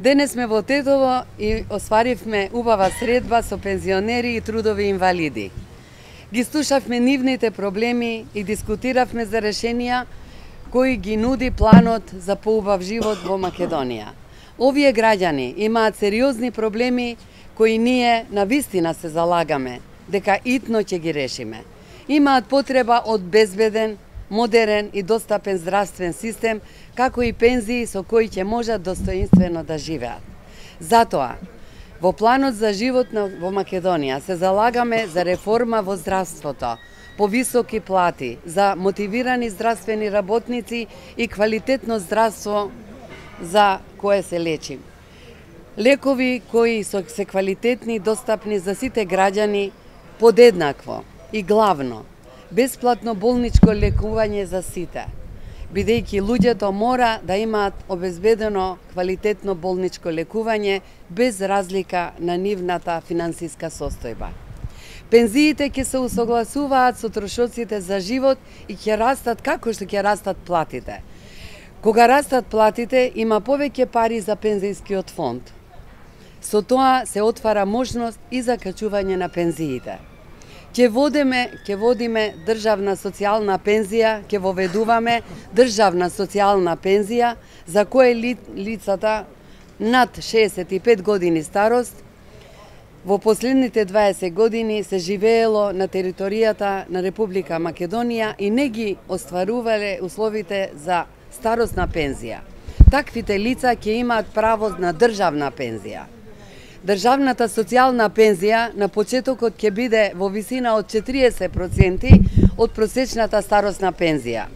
Денес сме во Тетово и остваривме убава средба со пензионери и трудови инвалиди. Ги слушавме нивните проблеми и дискутиравме за решенија кои ги нуди планот за поубав живот во Македонија. Овие граѓани имаат сериозни проблеми кои ние навистина се залагаме дека итно ќе ги решиме. Имаат потреба од безбеден, модерен и достапен здравствен систем, како и пензии со кои ќе можат достоинствено да живеат. Затоа, во планот за живот во Македонија се залагаме за реформа во здравството, повисоки плати, за мотивирани здравствени работници и квалитетно здравство за кое се лечим. Лекови кои се квалитетни и достапни за сите граѓани подеднакво и главно, бесплатно болничко лекување за сите, бидејќи луѓето мора да имаат обезбедено квалитетно болничко лекување без разлика на нивната финансиска состојба. Пензиите ќе се усогласуваат со трошоците за живот и ќе растат како што ќе растат платите. Кога растат платите, има повеќе пари за пензијскиот фонд. Со тоа се отвара можност и за качување на пензиите. Ќе водиме државна социјална пензија, ќе воведуваме државна социјална пензија за кое лицата над 65 години старост во последните 20 години се живеело на територијата на Република Македонија и не ги остварувале условите за старосна пензија. Таквите лица ќе имаат право на државна пензија. Државната социјална пензија на почетокот ќе биде во висина од 40% од просечната старосна пензија.